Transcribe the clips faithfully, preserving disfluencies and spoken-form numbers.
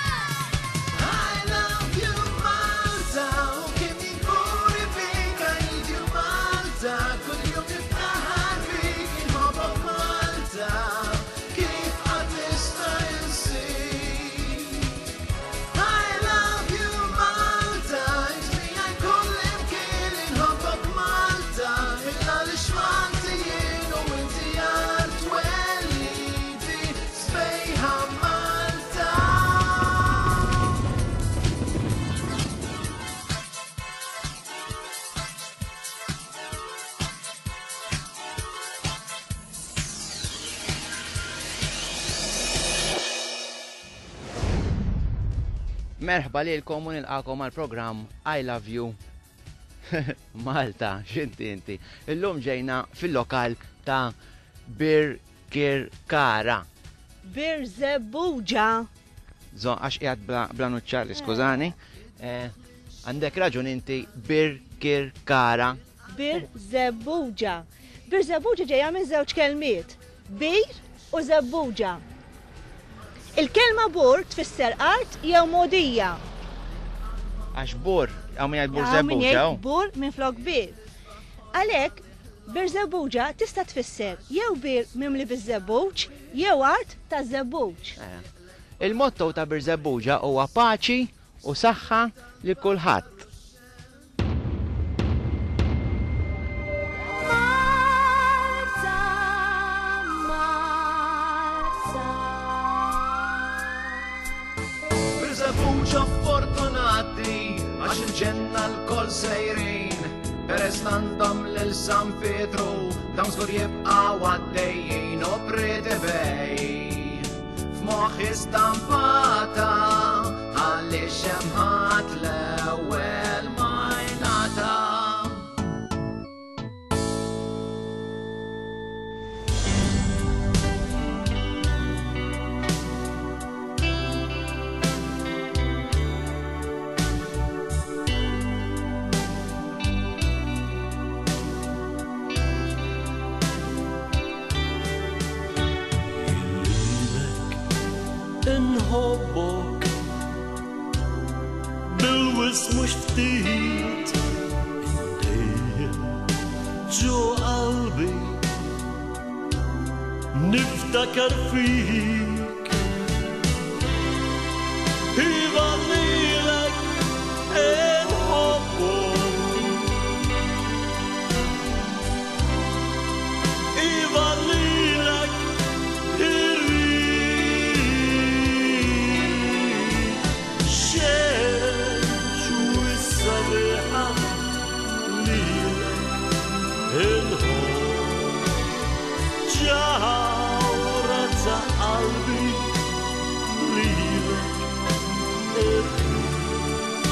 I love you Malta, u kemm inkun bik, I need you Malta, kull jum niftaħar bik, inħobbok Malta, kif qatt nista' insik. I love you Malta, int miegħi kull imkien, inħobbok Malta, il-għaliex Malti jien u inti art twelidi, sbejħa Malta. Merħba lilkom u nilqakom għal programm I Love You Malta, x'inti inti. Illum ġejna fil-lokal ta' Birkirkara. Birżebbuġa. Zo, għax qiegħed bla, bla nuċċali, skużani. Eh, Għandek raġun inti Birkirkara. Birżebbuġa. Birżebbuġa ġejja minn żewġ kelmiet. Bir u żebbuġa. Il-kelma bur tfisser art jew mogħdija. Għax bur, għaw min jgħid bur Hawn min żebbuġa. jgħid hawn. Bur minn flok bir. Għalhekk Birżebbuġa tista' tfisser jew bir mimli biż-żebbuġ jew art ta' żebbuġ. Eh. Il-motto ta' Birżebbuġa huwa paċi u saħħa li kulħadd. Malta, Malta. Birżebbuġa fortunati għax il-ġenna l-kol sejrin Peress għandhom lil San Pietru dawn żgur jibqgħu għaddejjin u Pretty Bay F'moħħi stampata għaliex hemm ħadd l-ewwel ma jingħata. Lilek inħobbok bil-wis mhux ftit dejjem ġo qalbi niftakar fik Iva lilek inħobbok Iva lilek irrid xemx u s-sabiħa lilek inħobb ġawra ta' qalbi lilek irrid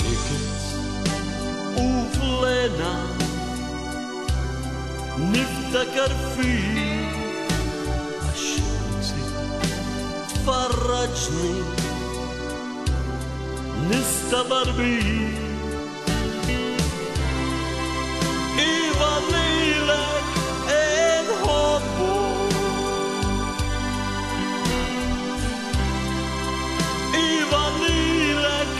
niket u flena niftakar fik għax inti tfarraġni nistabar bik Iva lilek inħobbu Iva lilek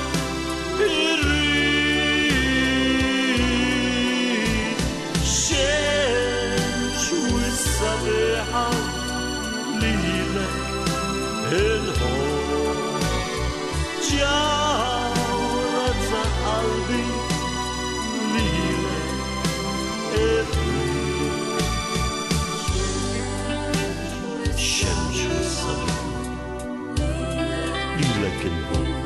irrid xemx u s-sabiħa lilek inħobb ġawra ta' qalbi lilek irrid xemx u s-sabiħa lilek inħobb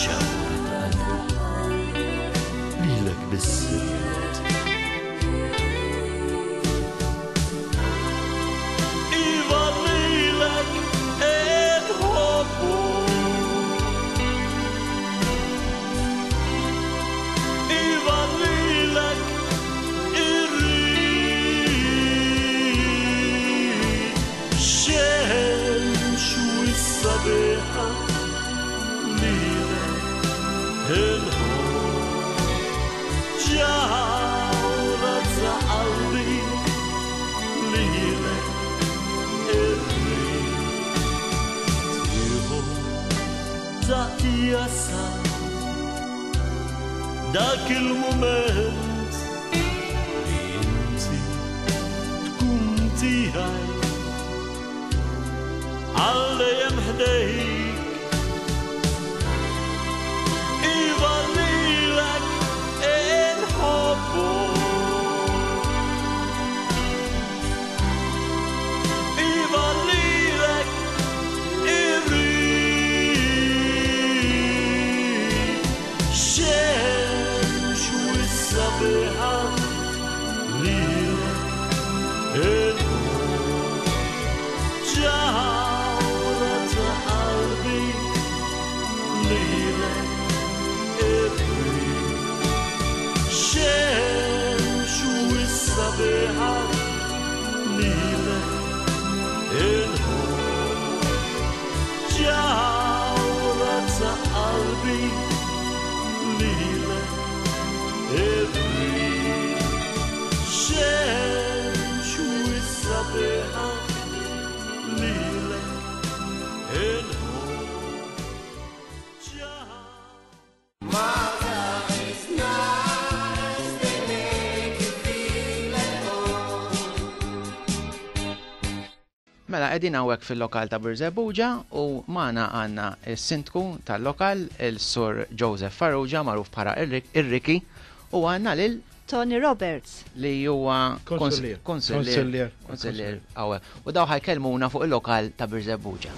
ġawra ta' qalbi lilek biss irrid Iva lilek inħobbu Iva lilek irrid Jasal dak il-moment li inti tkun tiegħi għal dejjem ħdejk. Iva lilek inħobbu, iva lilek irrid. Xemx u s-sabiħa lilek inħobb, ġawhra ta' qalbi lilek irrid. Xemx u s-sabiħa lilek inħobb, ġawhra ta' qalbi lilek irrid. Xemx u s-sabiħa lilek inħobb, ġawhra. Mela, qegħdin hawnhekk fil-lokal ta' Birżebbuġa u magħna għandna s-sindku tal-lokal, il-Sur Joseph Farrugia, magħruf bħala Ir-Riki, u għandna lil Tony Roberts. li huwa Konsullier. Konsullier. Konsullier hawnhekk. U daw ħa jkellmuna fuq il-lokal ta' Birżebbuġa.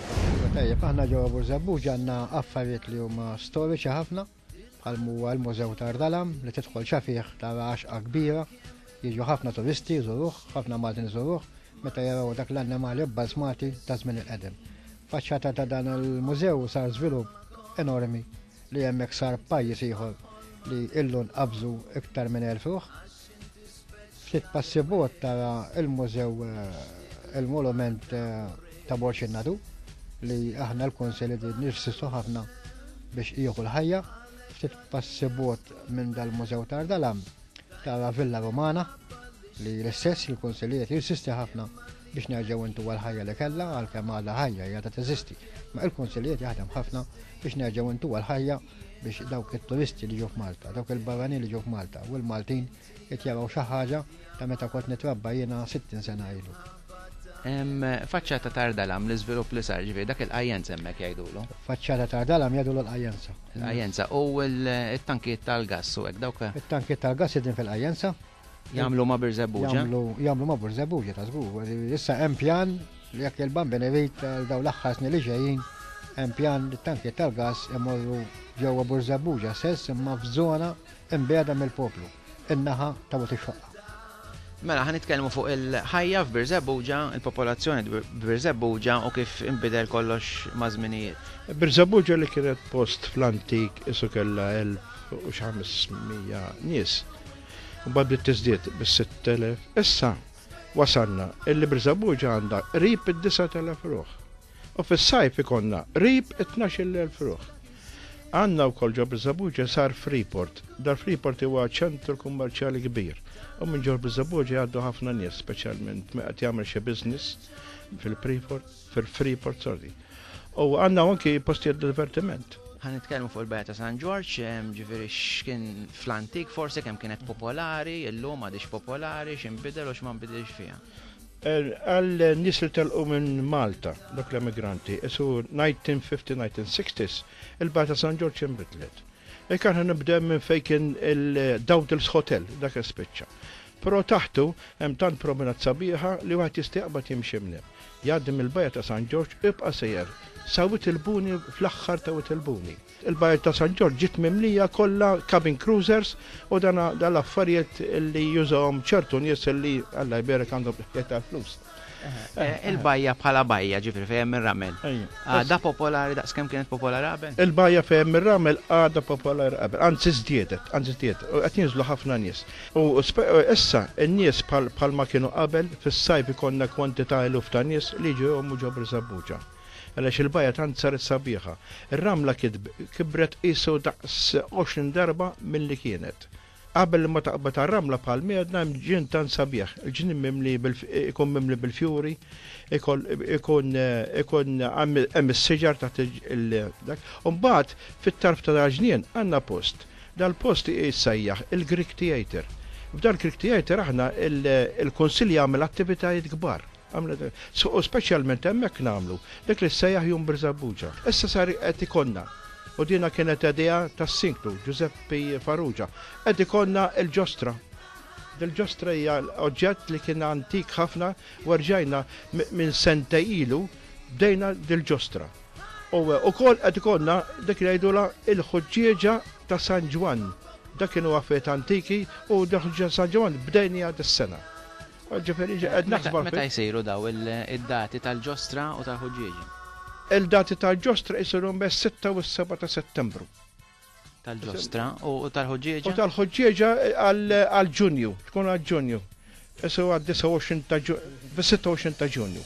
Tajjeb, aħna ġewwa Birżebbuġa għandna affarijiet li huma storiċi ħafna, bħal huwa l-Mużew ta' Għar Dalam li tidħol ġo fih tara għaxqa kbira, jiġu ħafna turisti jżuruh, ħafna Maltin jżuruh, meta jaraw dak l-annimali bbalzmati ta' żmien il-qedem. Faċċata ta' dan il-mużew sar żvilupp enormi li hemmhekk sar pajjiż ieħor li illu nqabżu iktar minn elf ruħ. Ftit passi bogħod tara il-mużew eh, il-monument eh, ta' Borġ in-Nadur li aħna l-Kunsill li nirsistu ħafna biex jieħu l-ħajja. Ftit passi bogħod minn dal-mużew ta' Għar Dalam tara Villa Romana li l-istess il-Kunsillijiet jirsisti ħafna biex nerġgħu intuha l-ħajja li kellha, għalkemm għadha ħajja hija ta' teżisti. Ma il-Kunsillijiet jaħdem ħafna biex nerġgħu intuha l-ħajja biex dawk it-turisti li ġew f'Malta, dawk il-barranin li ġew f'Malta u l-Maltin qed jaraw xi ħaġa ta' meta kont nitrabba jiena sittin sena ilu. Em, Faċċata ta' Għar Dalam, l-iżvilupp li sar, ġifieri dak il-qajjenza hemmhekk jgħidulu. Faċċata ta' Għar Dalam jgħidulu l-qajjenza. Il-qajjenza u l-tankiet tal-gass u hekk dawk It-tankiet tal-gass qegħdin fil-qajjenza. jagħmlu ma' Birżebbuġa. Jagħmlu jagħmlu ma' Birżebbuġa ta' żgur. Issa hemm pjan li jekk il-Bambin irid daw l-aħħar snin li ġejjin hemm pjan li t-tankiet tal-gass imorru ġewwa Birżebbuġa stess imma f'żona imbiegħda mill-poplu, in-naħa ta' Wied ix-Xoqqa. Mela, ħa nitkellmu fuq il-ħajja f'Birżebbuġa, il-popolazzjoni f'Birżebbuġa u kif inbidel kollox ma' żminijiet. Birżebbuġa li kienet post fl-antik isu kellha elf u xi ħames mija nies. U bad bdiet tiżdied bis-sitt elef. Issa wasalna illi Birżebbuġa għandha qrib id-disa' elef ruħ. U fis-sajf ikonna qrib it-tnax-il elf ruħ. Għandna wkoll ġo Birżebbuġa sar Freeport. Dar Freeport huwa ċentru kummerċjali kbir. U minn ġo Birżebbuġa jgħaddu ħafna nies, speċjalment meta qed jagħmel xi business fil-Freeport, fil-Freeport, sorry. U għandna anki postijiet divertiment. Ħa nitkellmu fuq il-Bajja ta' San Ġorġ, em, ġifieri x'kien fl-antik forsi kemm kienet popolari, illum għadix popolari, x'inbidel u x'ma nbidilx fiha. Eh, Għal nies li telqu minn Malta, dak l-emigranti, isu nineteen fifty, nineteen sixties, il-Bajja ta' San Ġorġ inbidlet. E kan nibda minn fejn kien il-Dowdell's Hotel, dak spiċċa. Però taħtu hemm tant promenat sabiħa li wieħed jista' jaqbad jimxi minn hemm. Jgħaddi mill-Bajja ta' San Ġorġ ibqa' sejjer sa Wied il-Buni, fl-aħħar ta' Wied il-Buni. Il-Bajja ta' San Ġorġ ġiet mimlija kollha cabin cruisers u dana dal-affarijiet li jużawhom ċertu nies li Alla jberek għandhom ħjiet tal-flus. Eh, Il-bajja bħala bajja, ġifieri fejn hemm ir-ramel. Ejja. Għadha popolari daqs kemm kienet popolari qabel? Il-bajja fejn hemm ir-ramel għadha popolari qabel, anzi żdiedet, anzi żdiedet, u qed jinżlu ħafna nies. U spe-, issa n-nies bħal, bħalma kienu qabel, fis-sajf ikollna kwantità eluf ta' nies li ġew jgħumu ġo Birżebbuġa. Għaliex il-bajja tant saret sabiħa. Ir-ramla kibret qisu daqs għoxrin darba milli kienet. Qabel ma taqbad ar-ramla bħal miedna hemm ġnien tant sabiħ. Il-ġnien mimli ikun mimli bil-fjuri, ikun ikun hemm is-siġar taħt il-dak. U mbagħad fit-tarf ta' dal-ġnien għandna post. Dal-post jissejjaħ il-Greek Theatre. F'dal Greek Theatre aħna il-Kunsill jagħmel attivitajiet kbar. U speċjalment hemmhekk nagħmlu dak li ssejjaħ Jum Birżebbuġa. Issa sar qed ikollna, u dina kienet idea tas-Sindku Giuseppe Farrugia, qed ikollna l-ġostra. Dil-ġostra hija oġġett li kien antik ħafna u rġajna minn sentejn ilu bdejna dil-ġostra. U wkoll qed ikollna dik li jgħidulha il-ħuġġieġa ta' San Ġwann. Dak kienu affarijiet antiki u dak San Ġwann bdejniha dis-sena. Ġifieri qed naħsbu. Meta jsiru daw id-dati tal-ġostra u tal-ħuġġieġa? Il-dati tal-ġostra jsiru bejn sitta u s-seba ta' Settembru. Tal-ġostra u tal-ħuġġieġa? U tal-ħuġġieġa għal Ġunju, tkun għal Ġunju. Isu għad disgħa u għoxrin ta' fis-sitta u għoxrin ta' Ġunju.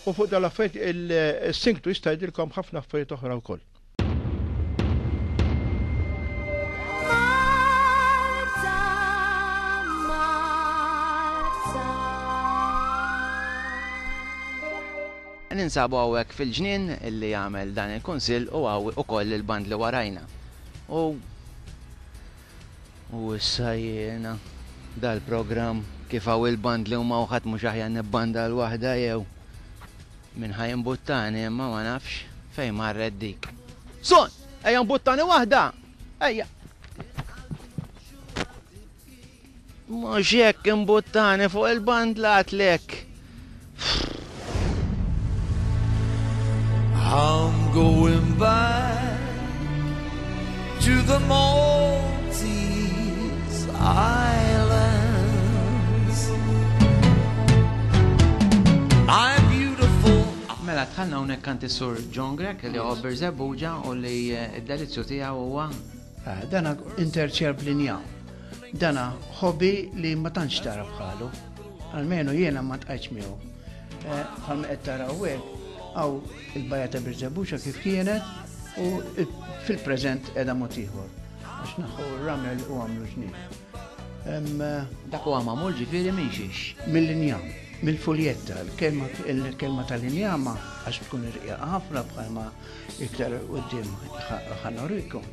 U fuq dal-affarijiet il-Sindku jista' jgħidilkom ħafna affarijiet oħra wkoll. Ninsabu hawnhekk fil-ġnien illi jagħmel dan il-kunsill u hawn ukoll il-band li warajna. U u issa jiena dal-programm kif hawn il-band li huma ħadd mhux aħjar nibbanda l waħda jew min ħa jimbuttani imma ma nafx fejn marret dik. Son, ejja mbuttani waħda! Ejja! Mhux hekk imbuttani fuq il-band għadtlek. I'm going back to the Maltese Islands. My beautiful. Mela dħalna hawnhekk għand is-Sur John Grech li huwa Birżebbuġa u li d-delizzju tiegħu huwa Dana interċer bl-injam. Dana hobby li ma tantx tara bħalu. Almenu jiena ma tqajtx miegħu. Bħalma qed tara hawnhekk għaw il-bajja ta' Birżebbuġa kif kienet u fil-preżent qiegħda mod ieħor. Għax naħu r-ramel u għamlu ġnien. Dak huwa magħmul ġifieri minn xiex? Mill-injam, mill-fuljetta, il-kelma tal-injama għax tkun irqiqa ħafna bħalma iktar quddiem ħanorikom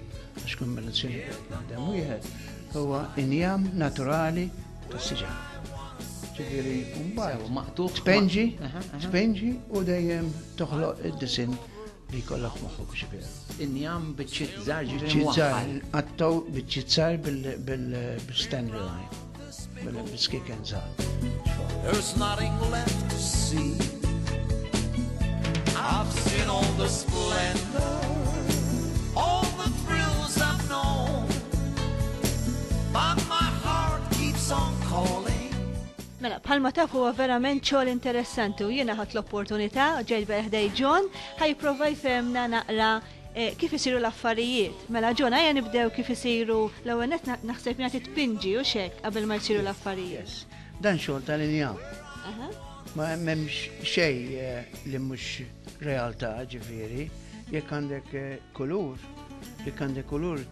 għax kombinazzjoni qed naħdem wieħed huwa injam naturali tas-siġar. Ġifieri mbagħad maqtugħ tpenġi, tpenġi u dejjem toħloq id-disinn li jkollok moħħok ġifieri. Injam biċċiet żgħar ġifieri Biċċiet żgħar, nqattgħu biċċiet żgħar bil-Stanley line, bil-skiken żgħar. There's nothing left to see. I've seen all the splendor, all the thrills I've known, but my heart keeps on calling. Mela, bħalma taf huwa verament xogħol interessanti u jiena ħadt l-opportunità ġejt ħdej John ħa jipprova jfehmna naqra kif isiru l-affarijiet. Mela John, ejja nibdew kif isiru l-ewwel nett naħseb jagħti tpinġi u xek qabel ma jsiru l-affarijiet. Yes. Dan xogħol tal-injam. Ma m'hemmx xejn li mhux realtà ġifieri, jekk għandek kulur, jekk għandek kulur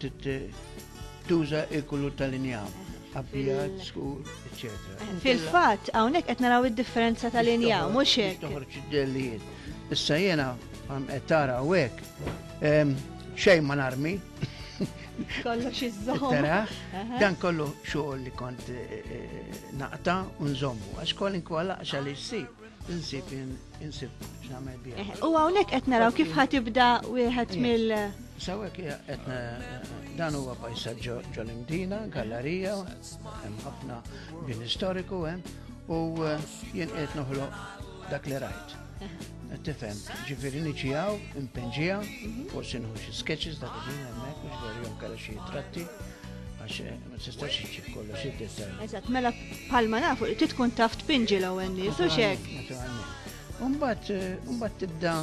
tuża il-kulur tal-injam. Abjad, skur, eccetera. Fil-fatt, hawnhekk qed naraw id-differenza tal-injam, mhux hekk. Toħroġ id-dellijiet. Issa jiena qed tara hawnhekk xejn ma narmi. Kollox iżżomm. Tara, dan kollu xogħol li kont naqta' u nżommu, għax kwalinkwa laqxa li ssib, insib insib x'nagħmel biha. U hawnhekk qed naraw kif ħa tibda wieħed mill Sawek qed dan huwa pajsaġġ ġol-Imdina, gallerija, hemm ħafna bini storiku hemm, u jien qed noħloq dak li rajt. Tifhem, ġifieri niġi hawn, impenġija, forsi nieħu xi sketches dak il-ħin hemmhekk, u ġifieri jom kellha xi tratti, għax ma tistax iġġib kollox id-dettall. Eżatt, mela bħalma nafu, trid tkun taf tpinġi l-ewwel nies, u x'hekk. Naturalment. U mbagħad, u mbagħad tibda,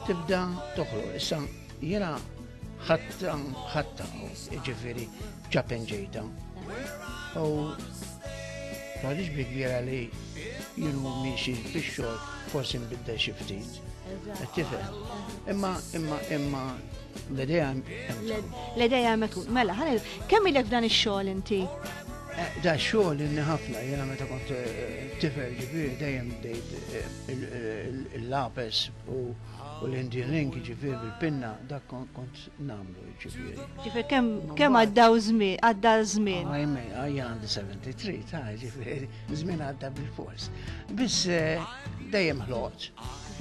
tibda toħloq. Issa jiena ħatta, ħatta, ġifieri ġapenġejta. U tgħidix bi kbira li jienu miexi fix-xogħol forsi nbiddel xi ftit. Qed tifhem. Imma, imma, imma l-idea hemm tkun. L-idea hemm tkun. Mela, ħa kemm ilek f'dan ix-xogħol inti? Da xogħol inni ħafna, jiena meta kont tifel ġifieri dejjem bdejt il-lapes u l-Indian ink ġifieri bil-pinna, dak kont nagħmlu ġifieri. Ġifieri kemm kemm għaddaw żmien, għadda żmien. Għajme, għajja għandi sebgħa u sebgħin ta' ġifieri, żmien għadda bil-fors. Biss dejjem ħloqt,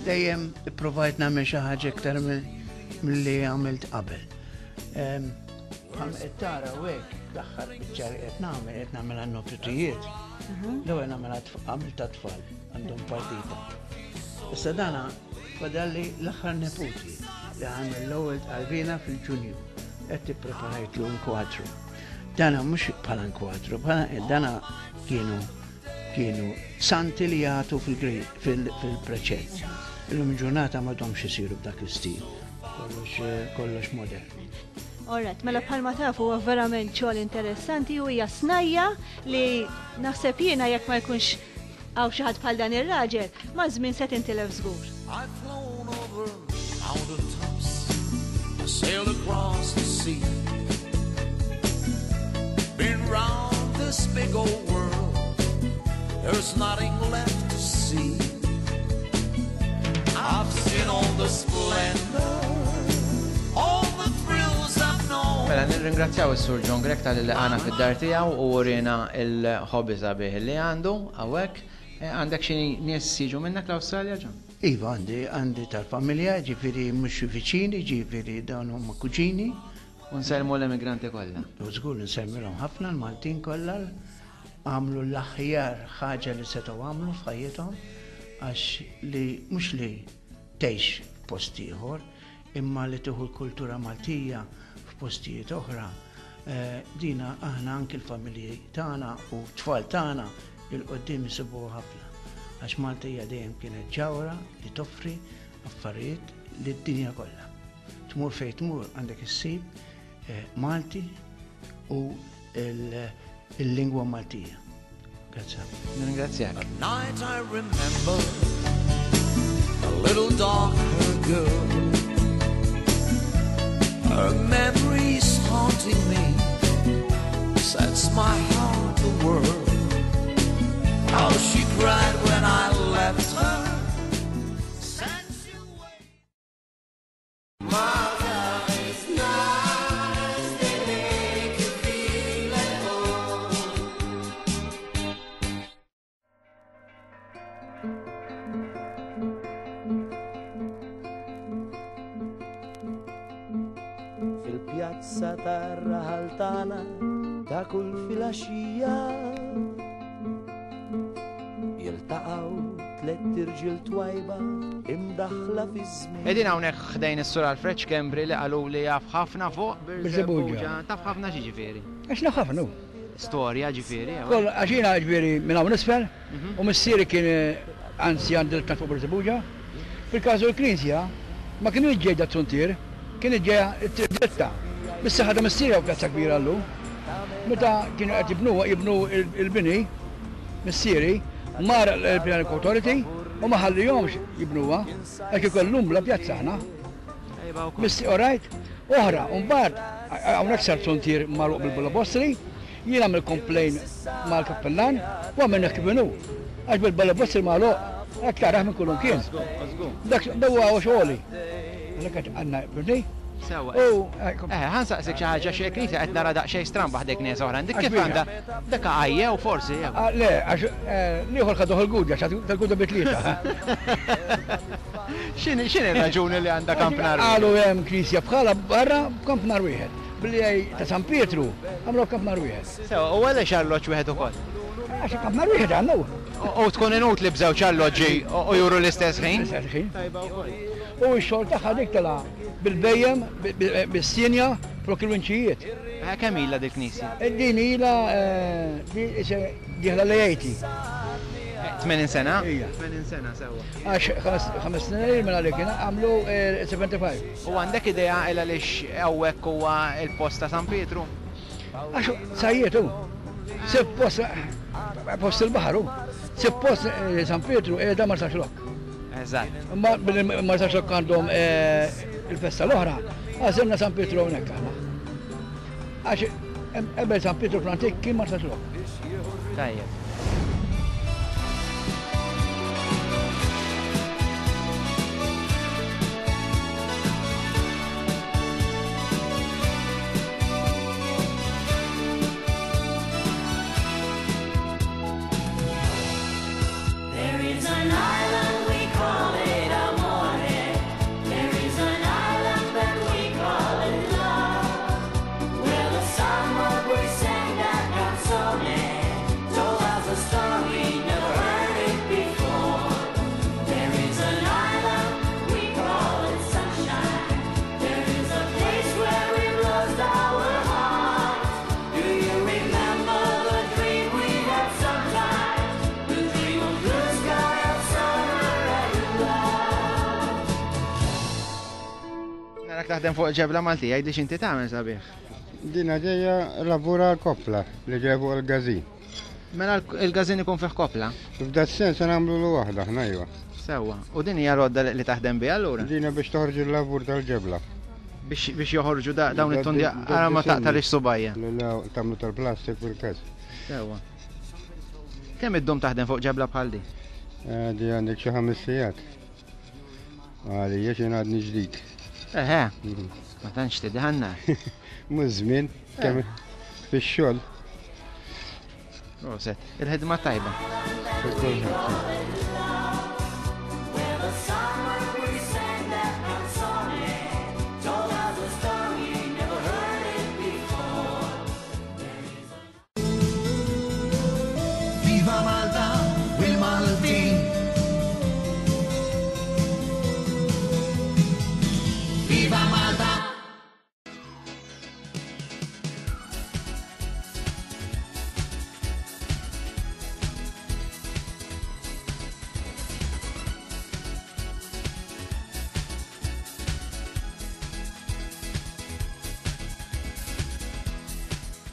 dejjem ipprovajt nagħmel xi ħaġa iktar milli għamilt qabel. Qed tara u hekk l-aħħar biċċa li qed nagħmel qed nagħmel għan-nofritijiet. L-ewwel nagħmel għamil ta' tfal għandhom partita. Issa dana fadalli l-aħħar neputi li għamel l-ewwel qalbina fil-Ġunju qed tippreparajtlu nkwadru. Dana mhux bħala nkwadru, bħala dana kienu kienu santi li jagħtu fil-preċett. Illum il-ġurnata m'għadhomx isiru b'dak l-istil, kollox kollox modern. Alright, mela bħalma tafu huwa verament xogħol interessanti u hija snajja li naħseb jiena jekk ma jkunx hawn xi ħadd bħal dan ir-raġel, ma' żmien se tintilef żgur. I've flown over mountain tops, I sailed across the sea. Been round this big old world, there's nothing left to see. I've seen all the splendor, all the thrills I've known. Mela nirringrazzjaw is-Sur John Grech tal-li għana fid-dar tiegħu u urina il-hobby sabiħ li għandu hawnhekk. Għandek xi nies jiġu minnek l-Awstralja, John? Iva, għandi, għandi tal-familja, ġifieri mhux viċini, ġifieri dawn huma kuġini. U nsellmu l-immigranti kollha. U żgur nsellmilhom ħafna l-Maltin kollha għamlu l-aħjar ħaġa li setgħu għamlu f'ħajjithom għax li mhux li tgħix f'post ieħor, imma li tieħu l-kultura Maltija f'postijiet oħra. Dina aħna anki l-familji tagħna u t-tfal tagħna il-qoddim isibuha ħafna. Għax Malta hija dejjem kienet ġawra li toffri affarijiet lid-dinja kollha. Tmur fejn tmur għandek issib Malti u il-lingwa Maltija. Grazie. Nirringrazzjak. At night I remember a little dark-haired girl. Her memory's haunting me, sets my heart a whirl. How she cried when I left her. Sent you away. Fil-pjazza tar-raħal tagħna ta' kull filgħaxija jiltaqgħu tlett irġiel twajba imdaħla fiż-żmien. Qegħdin hawnhekk ħdejn is-Sur Alfred Schembri li qalu li jaf ħafna fuq Birżebbuġa. Taf ħafna xi ġifieri? Għax naf ħafna hu. Storja ġifieri, jew? Koll għax jiena ġifieri minn hawn isfel u missieri kien anzjan direttant fuq Birżebbuġa. Fil-każu l-Knisja ma kienu ġejda t-suntier, kien ġejja t-triq dritta. Bis-saħħa ta' missieri hawn pjazza kbira llum. Meta kienu qed jibnu jibnu il-bini, missieri mar l-Planning Authority u ma ħallihomx jibnuha, għax ikollhom bla pjazza aħna. Missi, all right? Oħra, u mbagħad hawnhekk sar suntier magħluq bil-balabostri, jien għamil complain mal-kappellan u għamilna kif inhu. Għax bil-balabostri magħluq, hekk taraħ minn kullum kien. Dak huwa xogħli. Għalhekk qed għandna bni. Sewa. U, Eh, ħansaqsik xi ħaġa xi knisja qed nara daqsxejn stramba ħdejk nies oħra. Dik kif Għax għandha dak għajja u forsi jew. Ah, le, għax l-ieħor ħaduh il-gudja, tal-gudja bi tlieta. X'inhi x'inhi r-raġuni li għandha kampnar? Qalu hemm knisja bħala barra b'kampnar wieħed. Billi għaj ta' San Pietru għamlu kampnar wieħed. Sewa, u għaliex arloġġ wieħed ukoll? Għax kampnar wieħed għandna. U tkun inutli b'żewġ arloġġi u juru l-istess ħin? L-istess ħin. U x-xogħol tagħha dik tela bil-bejjem, bis-sinja, flok il-winċijiet. Kemm ilha dik knisja? Din ilha dieħla l-eighty. tmenin sena? Ija. tmenin sena sewa. Għax ħames snin minn għalik kien għamlu seventy-five. U għandek idea il għaliex hawnhekk huwa il-post ta' San Pietru? Għax sajjietu. Suppost post il-baħar hu. Suppost San Pietru qiegħda Marsaxlokk. Eżatt. Imma billi Marsaxlokk għandhom il-festa l-oħra, għażilna San Pietru hawnhekk aħna. Għax qabel San Pietru fl-antik kien Marsaxlokk. Tajjeb. There is an island, we call it amore. There is an island that we call it love. Where the summer breeze sang that canzone, told us a story, never heard it before. There is an island, we call it sunshine. There is a place where we lost our hearts. Do you remember the dream we had sometimes? The dream of blue sky of summer and love. Narak taħdem fuq ġebla Maltija, għidli x'inti tagħmel sabiħ. Dina ġeja lavura l-kopla li ġeja fuq il-gazin. Mela il-gazin ikun fih kopla? F'da sens nagħmlu l waħda aħna iva. Sewwa. U din hija rodda li taħdem biha allura? Dina biex toħroġ il-lavur tal-ġebla. Biex biex joħorġu dawn it-tundi ara ma taqtalix subajja. La tagħmlu tal-plastik fil-każ. Sewwa. Kemm iddum taħdem fuq ġebla bħal di? Eh, Di għandek xi ħames sigħat. Għalija xi għadni ġdid. Eħe, ma tantx tidħanna. Mhux żmien kemm fix-xogħol. Proset, il-ħidma tajba. Where the summer breeze sang that canzone, told us a story, never heard it before. Viva Malta, Will Maltin. Viva Malta.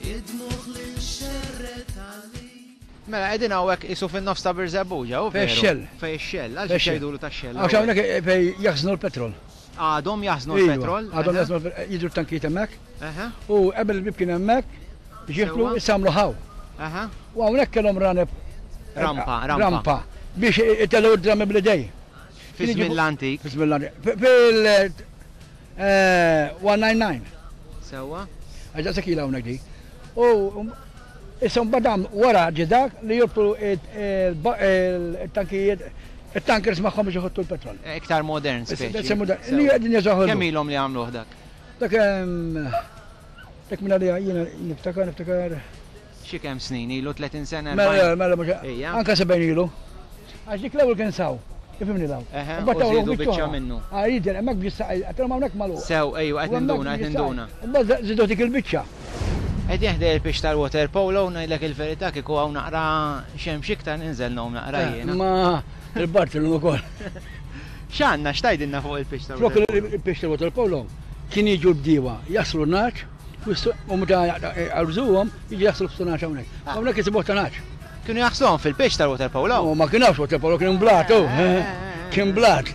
Id-dmuħ li xerret għalli. Mela qegħdin hawnhekk isu fin-nofs ta' Birżebbuġa, u Fej veru? ix-xell. Fej ix-xell, għaliex Fej ix-xell. jgħidulu tax-xell. Għax hawnhekk fej jaħżnu l-petrol. Għadhom jaħżnu Iva, l-petrol? Għadhom Eħe. jaħżnu l-petrol, jidru t-tankijiet hemmhekk. Eħe. U qabel il-bib kien hemmhekk biex jidħlu Sewwa. issa għamlu ħaw. Eħe. U hawnhekk kellhom raneb. Rampa, rampa. Rampa biex itellgħu d-drammi bl-idej. Fi żmien l-antik. Fi żmien l-antik. Fil eh, one nine nine. Sewwa. Għax daqshekk ilha hawnhekk di. U issa mbagħad għam wara ġie dak li jorbtu il-tankijiet, il-tankers magħhom biex iħottu l-petrol. Iktar modern Issa, speċi. issa modern. Li qegħdin jeżaħu Kemm ilhom li għamluh dak? Dak ehm, dak minn għalija jiena niftakar, niftakar. Xi kemm snin ilu tletin sena? Mela, erbgħin? mela, mhux Ejja. anka sebgħin ilu. Għax dik l-ewwel kien saw. Ifhimni daw. Eħe, Imbagħad u tawlu żiedu biċċa biċċa oħra. minnu. Ah, jidher, hemmhekk biex saqaj, għatilhom hawnhekk magħluq. Sew, ejwa, qed U hemmhekk ninduna, qed biex ninduna. saqaj. Imbagħad żidu dik il-biċċa. Qed jeħdej il-pitch tal-water polo, ngħidlek il-verità kieku hawn naqra xemx iktar ninżel nhom naqra Eh, jiena. Ma il-Bartolu ukoll. X'għandna x'tajdilna fuq il-pitch Flok tal-water polo? il-pitch tal-water polo kien jiġu l-bdiewa, jaslu n-naċ, u meta għarżuhom jiġu jaslu f'su naċ hawnhekk. Hawnhekk isibuh ta' naċ. Kienu jaħsluhom fil-pitch tal-water polo? U ma kienx water polo, kien blat, u. Kien blat.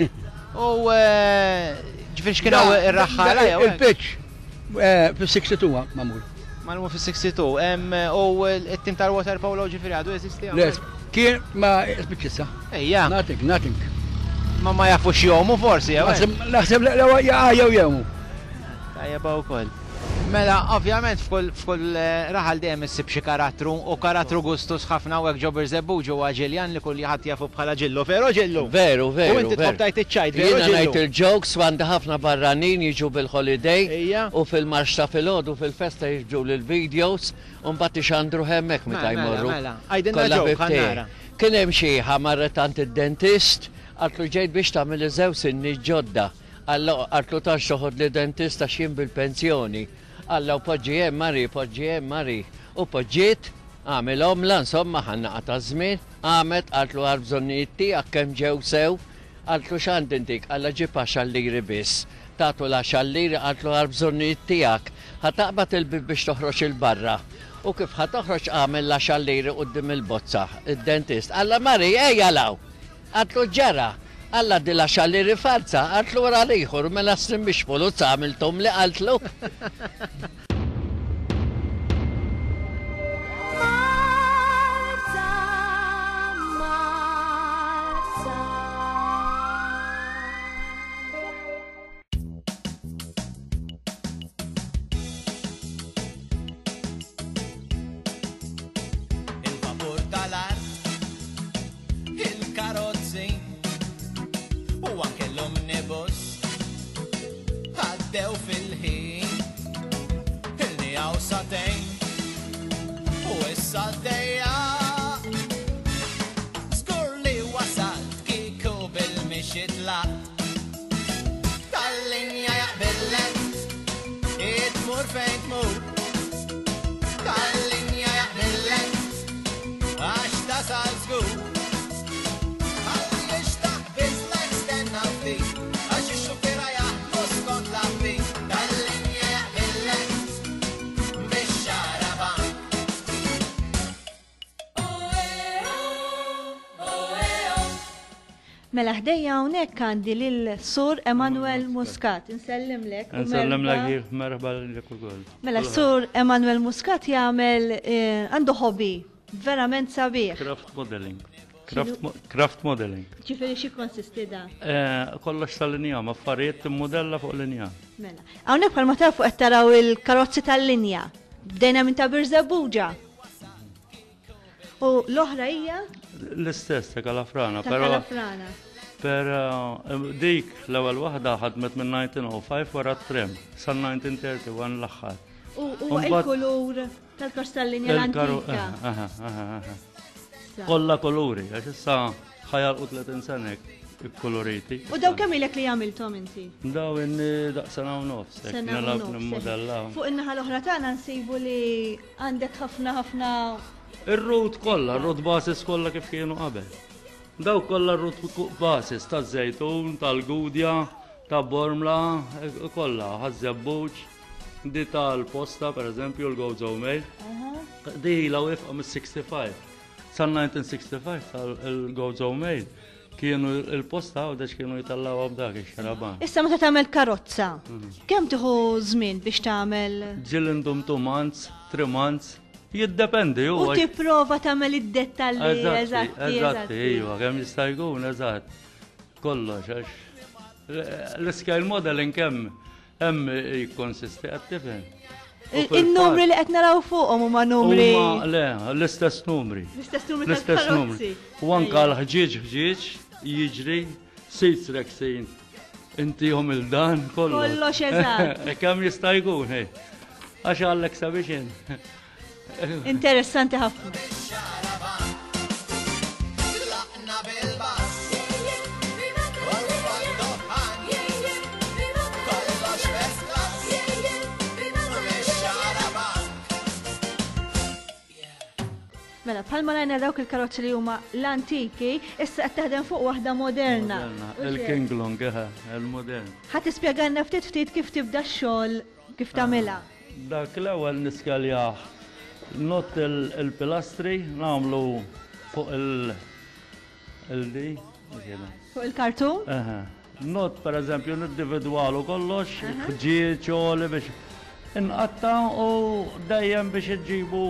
U eh, ġifieri x'kien hawn ir-raħħala jew hekk? Il-pitch eh, fis-sixty-two magħmul. Magħmul fis-sixty-two. Em, u it-tim tal-water polo ġifieri għadu jeżisti Le, hawnhekk? kien ma spiċċ issa. Ejja. Nothing, nothing. Ma ma jafux jomu forsi, jew hekk? Naħseb, naħseb le, le, jew jewmu. Tajjeb wkoll. Mela, ovvjament f'kull, f'kull, eh, raħal dejjem issib xi karattru u karattru gustus ħafna u hekk ġo Birżebbuġ huwa Ġiljan li kull ħadd jafu bħala Ġillu. Vero Ġillu? Veru, veru, U inti veru. tħobb tajt iċ-ċajt, veru Jiena Ġillu? ngħid il-jokes u għandi ħafna barranin jiġu bil-holiday Ejja. u fil-marx ta' filgħodu fil-festa jiġu l-videos u mbagħad ixandru hemmhekk meta Mela, jmorru. mela. Għidilna Kollha joke, ħbib tiegħi. ħa nara. Kien hemm xi marret għand id-dentist, qaltlu ġejt biex tagħmel iżew sinni ġodda. Alla qaltlu tax toħod li dentist għax jien bil-pensjoni. Alla u poġġi hemm Mari, poġġi hemm Mari. U poġġiet, għamilhom la insomma ħanna qata' żmien, għamet qaltlu għal bżonnijiet tiegħek kemm ġew sew, qaltlu x'għand intik, alla ġib għaxar liri biss. Tatu l-għaxar liri qaltlu għal bżonnijiet tiegħek. Ħa taqbad il-bib biex toħroġ il-barra. U kif ħa toħroġ għamel l-għaxar liri quddiem il-bozza, id-dentist. Alla Mari, ejja law. Qaltlu ġara. Alla di l-għaxar liri falza, qaltlu wara l-ieħor, mela snin biex poluzza għamiltom li qaltlu. Malta, U anke l-omnibus għaddew fil-ħin. Ilni hawn sagħtejn u issa għaddejja. Żgur li wasalt kieku bil-mixi tlaqt. Tal-linja jaqbillek, tmur fejn tmur. Tal-linja jaqbillek, għax tasal żgur. Għaliex taqbiżlek stenna ftit, għax ix-xufiera jaħdmu skont l-avviż. Tal-linja jaqbillek, bix-xarabank. Mela ħdejja hawnhekk għandi lil Sur Emanuel Muscat. Insellimlek. u Nsellimlek merħba. kif merħba lilek ukoll. Mela Sur Emanuel Muscat jagħmel eh, għandu hobby verament sabiħ. Craft modeling. Craft, mo- craft modeling. Ġifieri xi konsisti da? Eh, Kollox tal-injam, affarijiet timmodella fuq l-injam. Mela. Hawnhekk bħalma tafu qed taraw il-karozzi tal-linja. Bdejna minn ta' Birżebbuġa. U l-oħra hija L-istess ta' Kalafrana, ta' però Kalafrana. però eh, dik l-ewwel waħda ħadmet minn elf disa' mija u ħamsa wara t-tram sal-elf disa' mija u wieħed u tletin l-aħħar. U huwa Mbagħad- il-kulur tal-karozza tal-linja Il-karu- l-antika. eh, aha, aha, aha. Sa. Kollha kuluri, għax issa ħa jagħlqu tletin sena ikkuluriti. U daw kemm ilek li għamilthom inti? Daw inni daqs sena u nofs, hekk Sena u nilgħab nofs, nimmodella. Fuq in-naħa l-oħra tagħna nsibu li għandek ħafna ħafna Ir-route kollha, ir-route buses kollha kif kienu qabel. Daw kollha r-route buses taż-Żejtun, tal-Gudja, ta' Bormla, eh, kollha, Ħaż-Żebbuġ, di tal-Posta, per eżempju, l-Gozo Mail. Di ilha wieqfa mis-ħamsa u sittin. Sal-elf disa' mija u ħamsa u sittin tal-Gozo Mail kienu il-posta u dex kienu jitellaw b'dak ix-xarabank. Issa meta tagħmel karozza, Mhm. kemm tieħu żmien biex tagħmel Ġieli ndum two months, three months, jiddependi u huwa. tipprova tagħmel id-dettalji Eżatti, eżatti, eżatti, iva, kemm jista' jkun, eżatt. Kollox, għax l-scale modeling kemm hemm jikkonsisti qed tifhem. U Il-numri fil-fatt li qed naraw fuqhom huma numri huma le, l-istess numri. l-istess numri L-istess numri. tal-karozzi. U anka l-ħġieġ ħġieġ jiġri seats reksin. Intihom il-dan kollox. Kollox eżatt. Kemm jista' jkun, hej. Għax għall-exhibition. Interessanti ħafna. Tlaqna bil-bus, u d-duħan, kollox first class, bix-xarabank. Mela, bħalma rajna dawk il-karozzi li huma l-antiki, issa qed taħdem fuq waħda moderna. Moderna, U xejn. Il-King Long, eħe, il-modern. Ħa tispjegalna ftit ftit kif tibda x-xogħol, kif tagħmilha. Dak l-ewwel niskaljah not il- il-pilastri nagħmlu fuq il- il-di. Fuq il-kartun? Eħe. Not per eżempju nindividwalu kollox, ħġieġ għoli biex inqatta u dejjem biex iġibu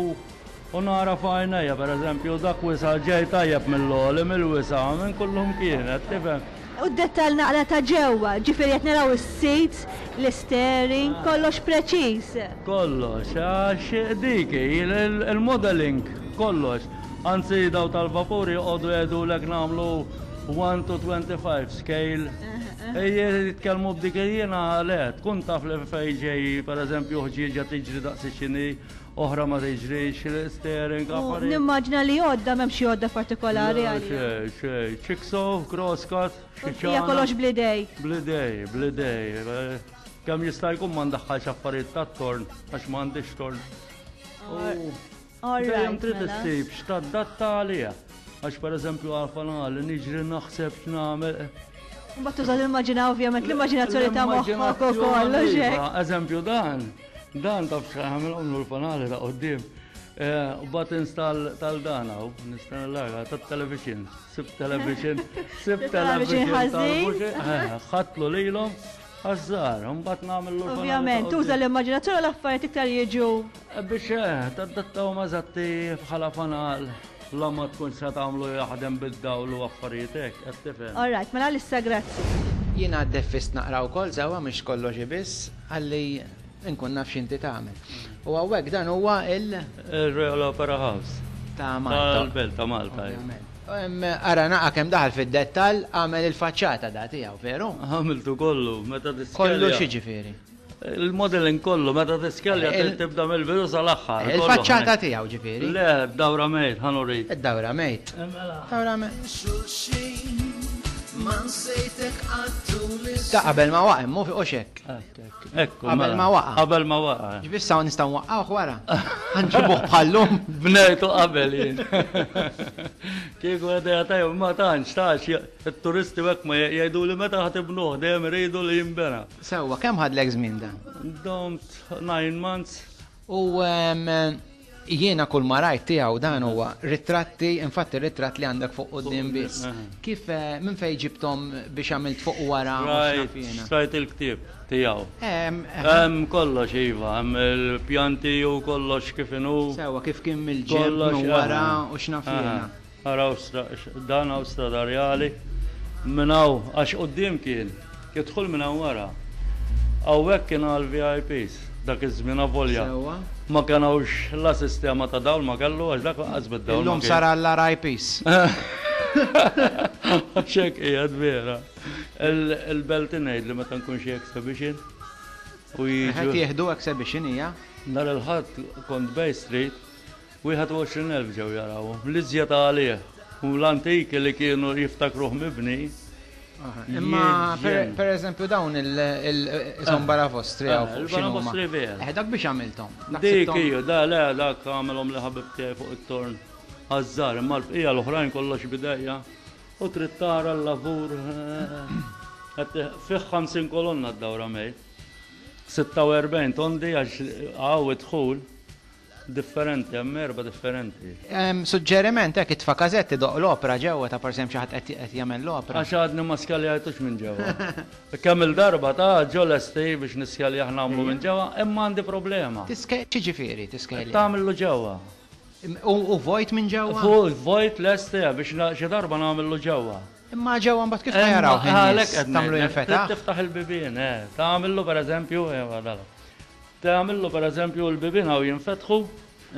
u nara f'għajnejja per eżempju dak wisa ġej tajjeb mill-għoli, mill-wisa, minn kullum kienet, tifhem. U d-dettal naqra ta' ġewwa, ġifieri qed naraw is-seats, l-steering, kollox preċiż. Kollox, għax dik il- il-modeling, kollox. Anzi, daw tal-vapuri għodu jgħidu lek nagħmlu one to twenty-five scale. Ejje, jitkellmu b'dik jiena le, tkun taf li fej ġej, per eżempju, ħġieġa tiġri daqs xini, oħra ma tiġrix, l-steering, U affarijiet. nimmaġina li għodda m'hemm xi għodda partikolari Le, għalija. Xej, xej, jigsaw, crosscut, xi Hija kollox bl-idej. Bl-idej, bl-idej. Kemm jista' jkun ma ndaħħalx affarijiet tat-torn, għax m'għandix torn. U All Dejjem right, trid mela. issib x'tadatta għaliha. Għax pereżempju għal-fanali niġri naħseb x'nagħmel. Mbagħad tuża l-immaġina ovvjament, l-immaġinazzjoni ta' moħħok u kollox Iva, hekk. Eżempju dan, dan taf x'għamilhom l-fanali ta' quddiem. Eh, U buttons tal-dana, u nista' l tat-television, sib television, sib Television television ħażin. tal-buxi, eh, ħadtlu lilhom għaż-żgħar, mbagħad nagħmel l Ovvjament, tuża l-immaġinazzjoni u l-affarijiet iktar jiġu. Biex eh, tadattaw mażatti bħala fanal, la ma tkun se tagħmlu jaħdem bid-dawl u affarijiet hekk, qed tifhem. All right, mela issa grazzi. Jiena għaddeffist naqra wkoll sewwa mhux kollox biss ħalli nkun naf x'inti tagħmel. U hawnhekk dan huwa il Il-Royal Opera House. ta' Malta. Tal-Belt ta' Malta. Ovvjament. Ara naqa kemm daħal fid-dettall għamel il-faċċata da tiegħu, veru? Għamiltu kollu, meta tiskelja. Kollu x'jiġifieri? Il-modeling kollu, meta tiskelja tibda mill-bidu sal-aħħar. Il-faċċata tiegħu ġifieri? Le, dawra mejt, ħa nurik. Id-dawra mejt. Dawra mejt. Ta' qabel ma waqa' mu fuq xek. Ekku. Qabel ma waqa'. Qabel ma waqa'. Ġifieri sa nistgħu nwaqqgħuh wara. Ħanġibuh bħallum. Bnejtu qabel jien. Kieku idea tajba ma tantx tax it-turisti hekk ma jgħidu li meta ħa tibnuh dejjem iridu li jinbena. Sewwa, kemm ħadlek żmien dan? Domt nine months. U jiena kull ma rajt tiegħu dan huwa ritratti, infatti ritratt li għandek fuq quddiem biss. Kif minn fejn ġibthom biex għamilt fuq wara? Rajt il-ktieb tiegħu. Hemm kollox iva, hemm il-pjanti u kollox kif inhu. Sewwa kif kien mill-ġenb minn wara u x'naf jiena. Araw dan hawn stradarjali minn hawn għax quddiem kien, jidħol minn hawn wara. Hawnhekk kien għal V I Ps dak iż-żmien avolja. Ma kien hawnx la sistema ta' dawl ma kellu għax dak lanqas bid-dawl. Illum sar għall-R I Ps. Għax hekk qiegħed vera. Il-belt ngħid li meta nkun xi exhibition u jiġu. Qed jieħdu exhibition hija? Nhar il-Ħadd kont Bay Street, wieħed u għoxrin elf ġew jarawhom. L-iżjed għalih u l-antiki li kienu jiftakruh mibni. Imma per eżempju dawn il-son barafostri għaw fuq x'inhuma. Barafostri vera. Eh, dak biex għamilthom. Dik hija, da le dak għamilhom li ħabib tiegħi fuq it-torn. Għażżar, imma l-bqija l-oħrajn kollox bidejja. U trid tara l-lavur fih ħamsin kolonna d-dawra mejt. Sitta u erbgħin tondi għax hawn id-dħul differenti, hemm erba' differenti. Suġġeriment hekk itfa' każetti doq l-opra ġewwa ta' pereżempju xi ħadd qed jagħmel l-opra. Għax għadni ma skeljajtux minn ġewwa. Kemm il-darba ta' ġo lesti biex niskelja nagħmlu minn ġewwa, imma għandi problema. X'jiġifieri tiskelja? Tagħmillu ġewwa. U vojt minn ġewwa? Fuq vojt lesti biex xi darba nagħmillu ġewwa. Imma ġewwa mbagħad kif jaraw in-nies? Tagħmlu jinfetaħ? Tiftaħ il-bibien, eh. Tagħmillu pereżempju, eh, dala. Tagħmillu pereżempju l-bibien hawn jinfetħu,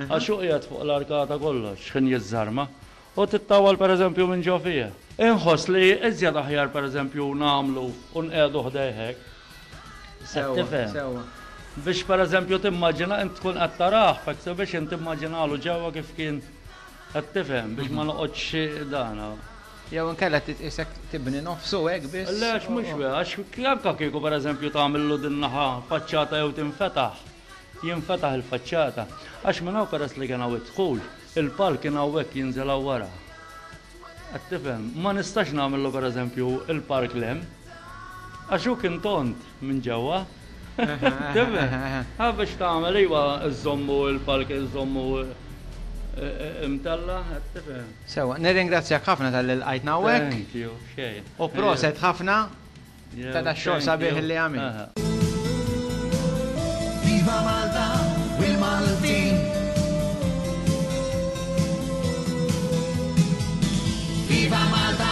għax hu qiegħed fuq l-arkata kollox, x'ħin jiżżarma, u tittawal pereżempju minn ġo fih. Inħoss li iżjed aħjar pereżempju nagħmlu u nqiegħdu ħdejhek. Sewwa, sewwa. Biex pereżempju timmaġina int tkun qed tarah f'exhibition timmaġinalu ġewwa kif kien qed tifhem biex ma noqgħodx dana. Jew inkella titqisek tibni nofsu hekk biss. Le, għax mhux vera, għax anke kieku pereżempju tagħmillu din naħa faċċata jew tinfetaħ, jinfetaħ il-faċċata. Għax minn hawn peress li kien hawn id-dħul, il-palk kien hawnhekk jinżel hawn wara. Qed tifhem, ma nistax nagħmillu pereżempju il-park l-hemm, għax hu kien tont minn ġewwa. Tifhem? Ha biex tagħmel iva żommu il-palk, iżommu imtella, qed tifhem. Sewwa, nirringrazzjak ħafna tal-li lqajtna hawnhekk. Thank you, xejn. U proset ħafna Yeah, ta' dax-xogħol thank sabiħ you. li għamilt. Viva Malta u l-Maltin. Viva Malta.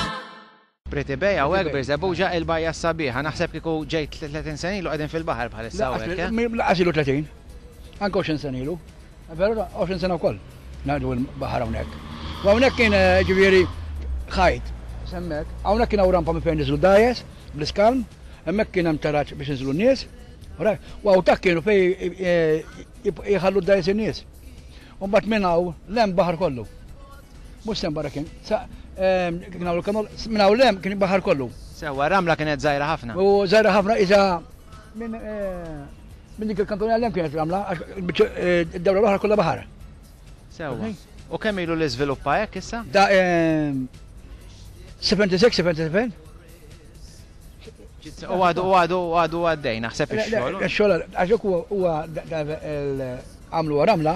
Pretty Bay hawnhekk Birżebbuġa il-bajja sabiħa. Naħseb kieku ġejt tletin sena ilu qegħdin fil-baħar bħalissa hawnhekk, eh? Laqas ilu tletin. Anke għoxrin sena ilu. Veru, għoxrin sena wkoll. Ngħidu l-baħar hawnhekk. U hawnhekk kien, eh, ġifieri ħajt. Semmek. Hawnhekk kien hawn rampa minn fejn niżlu dajes bl-iskalm, hemmhekk kien hemm taraġ biex niżlu n-nies. U hawn tak kienu fejn, eh, jħallu d-dajes in-nies. U mbagħad minn hawn l-hemm baħar kollu. Mhux sem barra kien. Sa, ehm, kien hawn il-kanol, minn hawn l-hemm kien baħar kollu. Sewwa, ramla kienet żgħira ħafna. U żgħira ħafna iża minn, eh, minn dik il-kantona l-hemm kienet ramla, għax il-biċċa, eh, id-dawra l-oħra kollha baħar. Sewwa. U kemm ilu li żviluppa hekk issa? Da, ehm, seventy-six, seventy-seven. U għadu, u għadu, u għadu għaddej, naħseb Le, le, ix-xogħol. Ix-xogħol, għax hekk huwa, huwa da, da, el, għamlu ramla,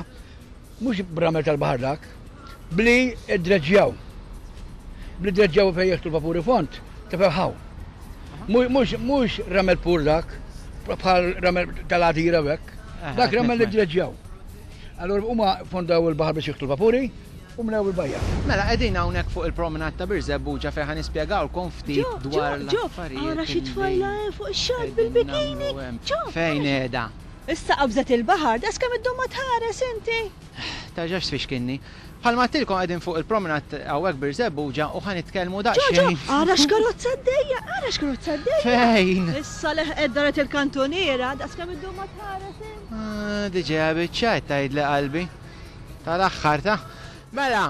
mhux b'ramel tal-baħar dak, bli dreġġjaw. Bli dreġġjaw fejn jieħdu l-vapuri font, tefeħaw. Mhux, mhux ramel pur dak, bħal ramel tal-għadira u hekk. Aha, Dak ramel li nifhem. dreġġjaw. Allura huma fondaw il-baħar biex jieħdu l-vapuri u mlew il-bajja. Mela qegħdin hawnhekk fuq il-promenade ta' Birżebbuġa fejn ħa nispjegawlkom ftit Ġo, dwar ġo, ġo, l-affarijiet ara xi illi tfajla hemm fuq ix-xatt qegħdin bil-bikini. nagħmlu hemm. Ġo, Fejn ara xi qiegħda? Issa qabżet il-baħar, das kemm iddum ma tħares inti. Tarġax tfixkinni. Bħalma għedtilkom qegħdin fuq il-promenade hawnhekk Birżebbuġa u ħa nitkellmu Ġo, ġo, daqsxejn. ara x'karozza għaddejja, ara x'karozza għaddejja. Fejn? Issa leħqet daret il-kantuniera, daqs kemm iddum ma tħares int. Ah, Diġà biċċajt tgħidli qalbi. Tal-aħħar ta' Mela,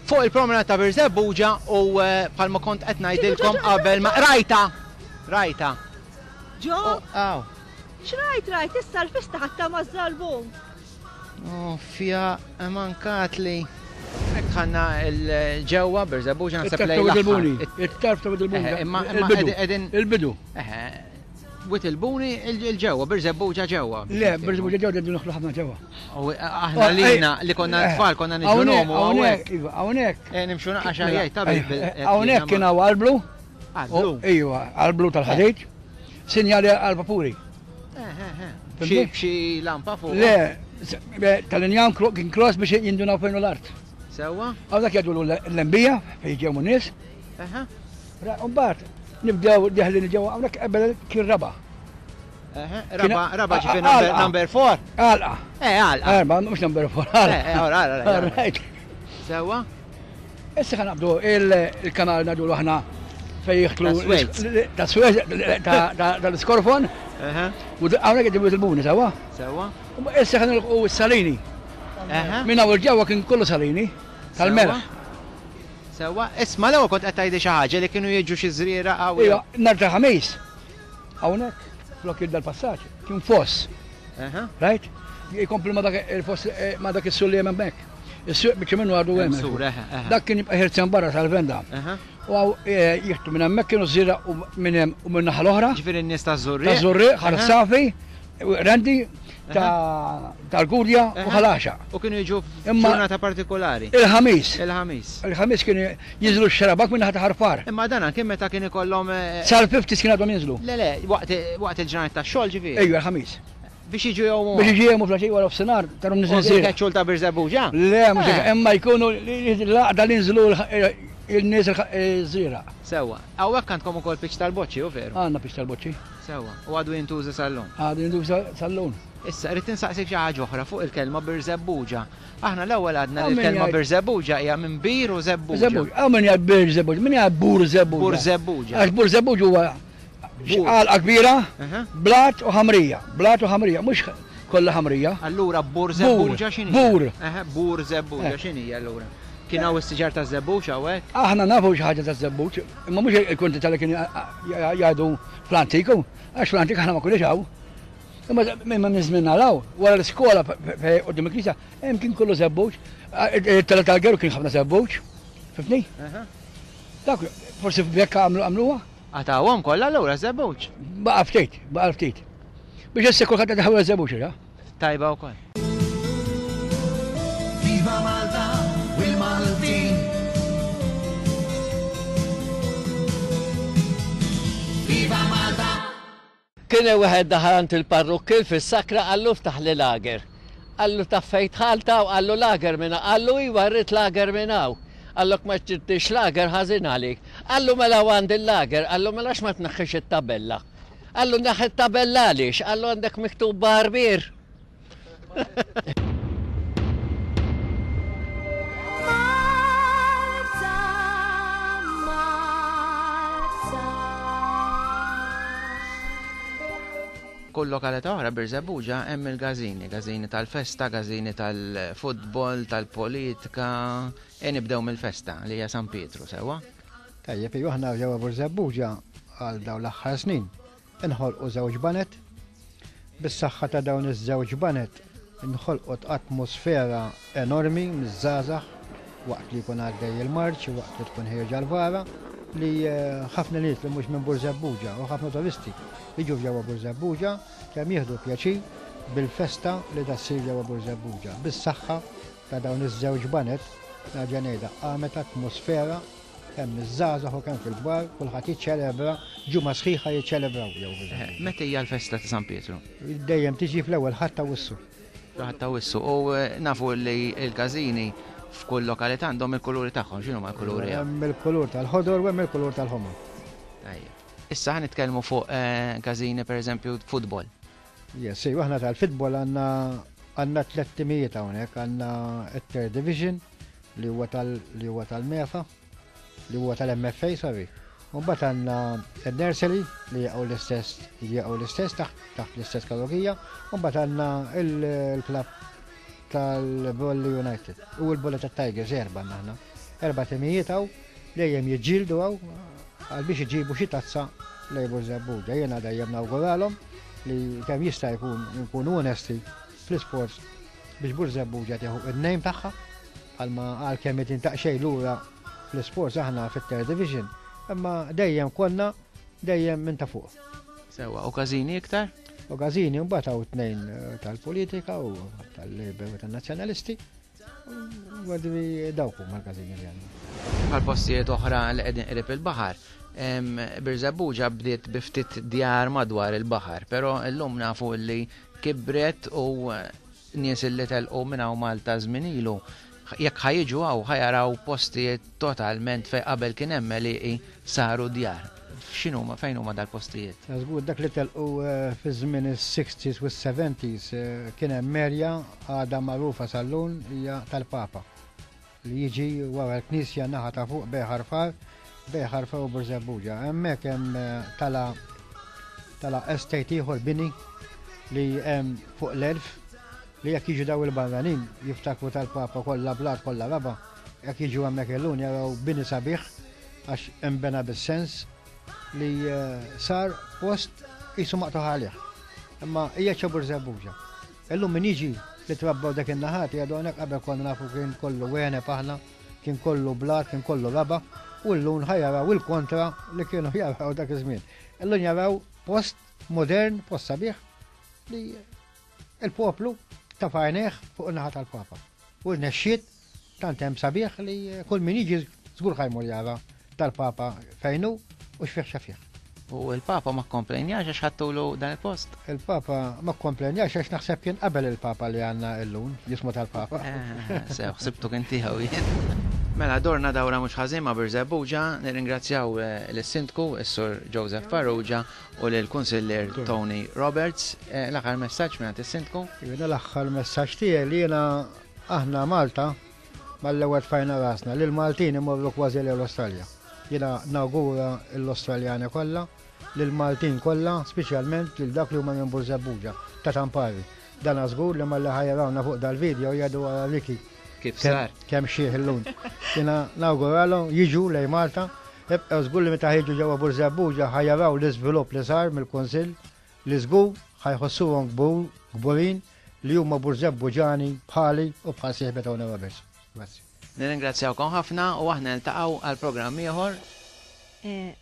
fuq il-promenade ta' Birżebbuġa u eh, bħalma kont qed ngħidilkom qabel ma rajta! Rajta. Ġo, Aw. x'rajt rajt, issa l-fista ħatta maż-żarbun. Oh, fija mankatli. Hekk dħalna l-ġewwa Birżebbuġa naħseb It-tarf lejn ta' Wied il-Buni. l-aħħar. It-tarf ta' Wied il-Buni. Eħe, imma imma Il-bidu. qegħdin Il-bidu. Eħe, Wied il-Buni il-ġewwa, Birżebbuġa ġewwa. Le, Birżebbuġa ġewwa qegħdin noħlu ħafna ġewwa. U aħna lina li konna tfal konna niġu nomu hawnhekk. Iva, hawnhekk. Eh, Nimxu naqra xajjaj ta' bil- bil- Hawnhekk kien hawn arblu. Arblu. Iva, arblu tal-ħadid. Sinjali għal-vapuri. Xi xi lampa fuq. Le, s- be- tal-injam kro- kien cross biex jindunaw fejn hu l-art. Sewwa? Għaw dak jgħidu l-lembija fejn ġew nies. Eħe. Mbagħad nibdew deħlin ġewwa hawnhekk qabel kien raba. Eħe, Raba, raba ġifieri number number four. Għalqa. Eh, għalqa. Erba, mhux number four, għalqa. Eh, eh, ora, ora, ora. All right. Sewwa? Issa ħa naqbdu il-kanal ngħidu aħna fejn jidħlu Ta' Suez. ta' Suez tal-Iskorfon. Eħe. U hawnhekk qed il-buni sewwa. Sewwa? U Issa ħa nilqu s-salini. Eħe. Minn hawn il-ġewwa kien kollu salini tal-melħ. Sewwa, isma' l-ewwel kont qed tgħidli xi ħaġa li kienu jiġu xi żrieraq hawn. Iva, nhar ta' ħamis. Hawnhekk flok dal-passaġġ kien foss. Eħe. Right? Jkompli ma dak il-foss eh, ma dak is-sur li hemm hemmhekk. Is-suq biċċa minnu għadu Hemm hemm. sur, eħe, eħe. Dak kien jibqa' ħirzen barra sal-venda. Eħe. U għaw eh, jieħdu minn hemmhekk kienu żira u minn hemm u minn naħa l-oħra. Ġifieri n-nies ta' Żurrieq. Ta' Żurrieq, Ħar Eħe. Safi, Rendi, ta' tal-Gudja u Eħe. Ħal Għaxaq. U kienu jiġu Imma- f'ġurnata partikolari. Il-ħamis. Il-ħamis. Il-ħamis kienu jinżlu x-xarabak minn naħa ta' Ħarfar. Imma dan kien meta kien ikollhom eh, Sal-fifties kien għadhom jinżlu. Le le, waqt waqt il-ġranet tax-xogħol ġifieri. Ejju, il-ħamis. Biex jiġu jgħumu. Biex jiġu jgħumu fl-għaxija wara f'sinar, tarom U niżel il-keċċul ta' Birżebbuġa? Le, mhux hekk, Eh. imma jkunu l-għaqda li nżlu il-nies il-żira. Sewwa. Hawnhekk għandkom ukoll pitch tal-boċċi, u veru? Għandna pitch tal-boċċi. Sewwa. U għadu jintuża sal-lum. Għadu jintuża sal-lum. Issa, rrid insaqsik xi ħaġa oħra fuq il-kelma Birżebbuġa. Aħna l-ewwel għadna li Għaw min l-kelma jgħid- Birżebbuġa hija minn bir u żebbuġa. Żebbuġ. Għaw min jgħid Birżebbuġa, min jgħid Burżebbuġa. Burżebbuġa. Għax Burżebbuġa huwa għalqa kbira, blat u ħamrija, blat u ħamrija, mhux kollha ħamrija. Allura Burżebbuġa x'inhi? Bur. Eħe, Burżebbuġa Eh. x'inhi allura? Kien hawn is-siġar ta' żebbuġ hawnhekk? Aħna nafu xi ħaġa ta' żebbuġ, imma mhux il-kwantità li kien jgħidu fl-antiku, għax fl-antik aħna ma kunniex hawn. Imma minn minn żmien naraw, wara l-iskola quddiem il-knisja, hemm kien kollu żebbuġ, it-tela tal-geru kien ħafna żebbuġ, fifni? Dak forsi f'bekka għamlu għamluha? Għatawhom kollha allura żebbuġ. Baqa' ftit, baqa' ftit. Biex issa kulħadd qed iħawwel żebbuġ, ja? Tajba wkoll. Viva Malta u l-Maltin. Viva Malta. Kien hemm wieħed daħal għand il-parrukkil fis-sakra qallu ftaħ li lager. Qallu taf fejn dħalta u qallu lager minn hawn. Qallu iva rrid lager minn hawn. Qallok ma ġibtix lager ħażin għalik. Qallu mela għand il-lager, qallu mela ma tneħħix it-tabella. Qallu neħħi it-tabella għaliex, qallu għandek miktub barbier. Malta, Malta. Kull lokalità oħra Birżebbuġa hemm il-gażini, gażini tal-festa, gażini tal-futbol, tal-politika. E nibdew mill-festa li hija San Pietru, sewwa? Tajjeb, iva aħna ġewwa Burżebbuġa għal dawn l-aħħar snin inħolqu żewġ banet. Bis-saħħa ta' dawn iż-żewġ banet inħolqot atmosfera enormi miż-żgħażagħ waqt li jkun għaddej il-marċ, waqt li tkun ħierġa l-vara, li eh, ħafna nies li mhux minn Burżebbuġa u ħafna turisti jiġu ġewwa Burżebbuġa kemm jieħdu pjaċir bil-festa li da ssir ġewwa Burżebbuġa. Bis-saħħa ta' dawn iż-żewġ banet nerġa' ngħidha qamet atmosfera kemm iż-żgħażagħ u kemm fil-kbar, kulħadd jiċċelebra, ġimgħa sħiħa jiċċelebraw jew Eh, Meta hija l-festa ta' San Pietru? Dejjem tiġi fl-ewwel ħadd ta' wissu. Ħadd ta' wissu. U eh, nafu li l-każini f'kull lokalità għandhom il-kuluri tagħhom, x'inhuma l-kuluri? hawn? Hemm il-kulur tal-ħodor u hemm il-kulur tal-ħomor. Tajjeb. Issa ħa nitkellmu fuq eh, każini pereżempju futbol. Yes, iva, aħna tal-futbol għandna Għandna tliet timijiet hawnhekk, għandna t-Third Division li huwa tal li huwa tal-MEFA, li huwa tal-M F A, sorry. U mbagħad għandna n-nursery li jaqgħu l-istess jaqgħu l-istess taħt taħt l-istess kategorija, u mbagħad għandna il-klabb tal-Bolli United u l-Bolli tat-Tigers, erba' għandna aħna. Erba' timijiet hawn dejjem jiġġieldu hawn għal biex iġibu xi tazza lejn Birżebbuġa. Jiena dejjem nawguralhom li kemm jista' jkun nkunu onesti fl-isports biex Birżebbuġa tieħu id-name tagħha, għalma għal kemm tintaqxej lura fl-isports aħna fit-Third Division, imma dejjem konna dejjem minn ta' fuq. Sewa, u każini iktar? U każini mbagħad hawn tnejn eh, tal-politika u tal-Labour u tan-Nazzjonalisti. U għadri dawk huma l-każini li għandna. Bħal postijiet oħra li qegħdin qrib il-baħar, em, Birżebbuġa bdiet bi ftit djar madwar il-baħar, però llum nafu li kibret u eh, nies li telqu minn hawn Malta żmien ilu jekk ħa jiġu hawn ħa jaraw postijiet totalment fej qabel kien hemm għelieqi saru djar. X'inhuma, fejn huma dal-postijiet? Żgur dak li telqu eh, fi żmien is-sixties u s-seventies eh, kien hemm area għadha magħrufa sal-lum, hija tal-Papa, li jiġi wara l-Knisja naħa ta' fuq bejn Ħal Far, bejn Ħal Far u Birżebbuġa. Hemmhekk hemm eh, tala tala estate ieħor, bini li hemm fuq l-elf, li jekk jiġu daw il-barranin jiftakru tal-Papa kollha blat, kollha raba', jekk jiġu hemmhekk illum jaraw bini sabiħ għax imbena bis-sens li eh, sar post jisu maqtuħ għalih. Imma hija ċa Birżebbuġa. Illum min jiġi li trabbaw dak in-naħat jgħidu hawnhekk qabel konna nafu kien kollu għeneb aħna, kien kollu blat, kien kollu raba, u llum ħa jaraw il-kontra li kienu jaraw dak iż-żmien. Illum jaraw post modern, post sabiħ li il-poplu ta' fajneħ fuq in-naħa tal-Papa. U rnexxiet tant hemm sabiħ li kull min jiġi żgur ħa jmur jara tal-Papa fejnu u x'fih x'fih. U il-Papa ma komplenjax għax ħadtulu dan il-post? Il-Papa ma komplenjax għax naħseb kien qabel il-Papa li għandna illum, jismu tal-Papa. Eh, sew, ħsibtu kien tiegħu jien. Mela, dorna dawra mhux ħażin ma' Birżebbuġa, nirringrazzjaw eh, lis-Sindku, is-Sur Joseph Farrugia, u lill-Kunsillier Tony Roberts. Eh, L-aħħar messaġġ minn is-Sindku? Jiena l-aħħar messaġġ tiegħi li jiena aħna Malta mal-ewwel tfajna rasna li l-Maltin imorru kważi l-Awstralja. Jiena nawgura l-Awstraljani kollha, lill-Maltin kollha, speċjalment lil dak li huma minn Birżebbuġa ta' Tampari. Dan żgur li malli ħa jarawna fuq dal-video jgħidu għara Ricky Kif sar? kemm xieħ illum. Jiena nawguralhom jiġu lejn Malta, ibqgħu żgur li meta jiġu ġewwa Birżebbuġa ħa jaraw l-iżvilupp li sar mill-Kunsill, li żgur ħa jħossuhom kburin li huma Birżebbuġani bħali u bħal sieħbi Tony Roberts. Grazzi. Nirringrazzjawkom ħafna u aħna niltaqgħu għal programm ieħor. Eh,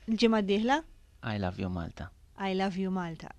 Il-ġimgħa d-dieħla? I love you, Malta. I love you, Malta.